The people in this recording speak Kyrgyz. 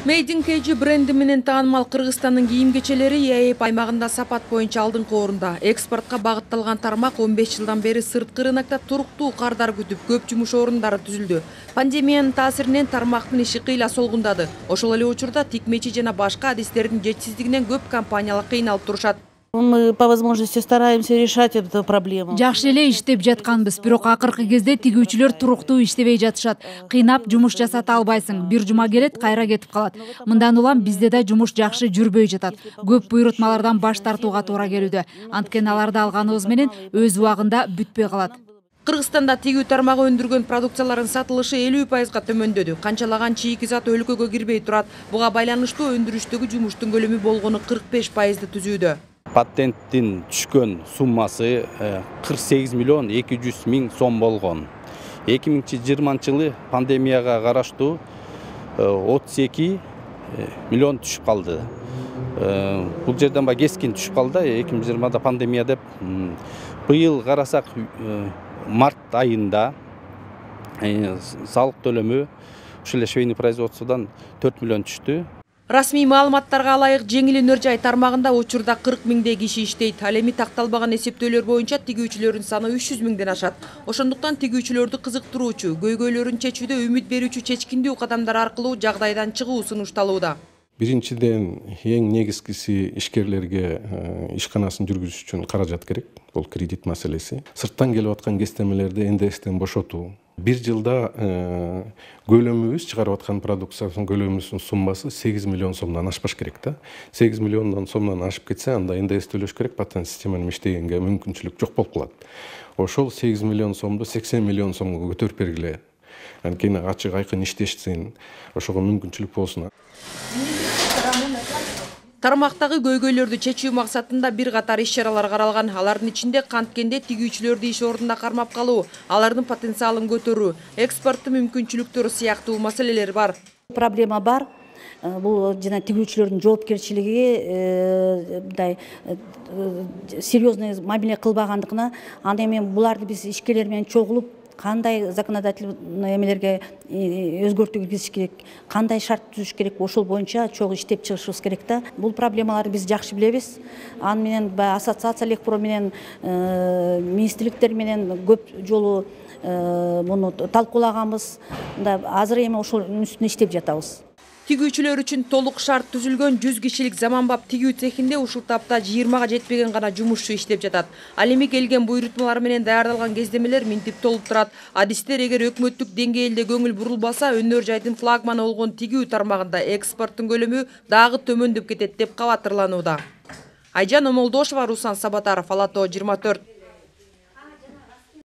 Made in KG бренди менен таанымал Кыргызстандын кийим-кечелери ЕАЭП аймагында сапат боюнча алдыңкы орунда. Экспортко багытталган тармак 15 жылдан бери сырткы рынокто туруктуу кардар күтүп, көп жумуш орундары түзүлдү. Пандемиянын таасиринен тармактын иши кыйла солгундады. Ошол эле учурда тикмечи жана башка адистердин жетишсиздигинен көп компаниялар кыйналып турушат. Мы по возможности стараемся решать эту проблему. Жакшы эле иштеп жатканбыз, бирок акыркы кезде тигүүчүлөр туруктуу иштебей жатышат. Кыйнап жумуш жасата албайсың. Бир жума келет, кайра кетип калат. Мындан улам бизде да жумуш жакшы жүрбөй жатат. Көп буйрутмалардан баш тартууга туура келүүдө. Анткени аларды алганыбыз менен өз убагында бүтпөй калат. Кыргызстанда тигүү тармагы өндүргөн продукциялардын сатылышы 50%га төмөндөдү. Канчалаган чийки зат өлкөгө кирбей турат. Буга байланыштуу өндүрүштөгү жумуштун көлөмү болгону 45%ды түзүүдө. Патенттин түшкөн суммасы 48 миллион 200 миң сом болгон. 2020 жылы пандемияга караштуу 32 миллион түшүп калды. Бул жерден ба кескин түшүп калды. 2020 пандемия деп. Быйыл карасак март айында салык төлөмү ушул швейный производстводан 4 миллион түштү. Расмий маалыматтарга ылайык жеңил өнөр жай тармагында учурда 40 миңдей киши иштейт. Ал эми такталбаган эсептөөлөр боюнча тигүүчүлөрдүн саны 300 миңден ашат. Ошондуктан тигүүчүлөрдү кызыктыруучу, көйгөйлөрүн чечүүдө үмүт берүүчү чечкиндүү кадамдар аркылуу жагдайдан чыгуу сунушталууда. Биринчиден эң негизгиси ишкерлерге ишканасын жүргүзүш үчүн каражат керек. Бул кредит маселеси. Сырттан келип аткан кестемелерди НДСтен бошотуу. Бир жылда көлөмүбүз чыгарып аткан продукциянын көлөмүнүн суммасы 8 миллион сомдон ашпаш керек да. 8 миллиондон сомдон ашып кетсе, анда НДС төлөш керек, патент системаны иштегенге мүмкүнчүлүк жок болуп калат. Ошол 8 миллион сомду 80 миллион сомго көтөрүп бергиле. Анткени ачык айкын иштешсин, ошого мүмкүнчүлүк болсун. Тармактагы көйгөйлөрдү чечүү максатында бир катар иш-чаралар каралган. Алардын ичинде канткенде тигүүчүлөрдү иш ордунда кармап калуу, алардын потенциалын көтөрүү, экспорттун мүмкүнчүлүктөрү сыяктуу маселелер бар. Проблема бар. Бул жана тигүүчүлөрдүн жоопкерчилиги мындай серьезный мамиле кылбагандыгына, анда эми буларды биз ишкерлер менен чогулуп кандай законодательный эмелерге өзгөртүү киргизиш керек, кандай шарт түзүш керек, ошол боюнча чогуу иштеп чыгышыбыз керек да. Бул проблемаларды биз жакшы билебиз. Аны менен ассоциация Лекпро менен министрликтер менен көп жолу муну талкуулаганбыз. Азыр эми ошол үстүнө иштеп жатабыз. Тигүүчүлөр үчүн толук шарт түзүлгөн 100 кишилик заманбап тигүү цехинде ушул тапта 20га жетпеген гана жумушчу иштеп жатат. Ал эми келген буйрутмалар менен даярдалган кездемелер минтип толуп турат. Адистер эгер өкмөттүк деңгээлде көңүл бурулбаса, өнөр жайдын флагманы болгон тигүү тармагында экспорттун көлөмү дагы төмөндөп кетет деп кабатырланууда. Айжан Омолдошова, Руслан Сабатаров, Ала Тоо 24.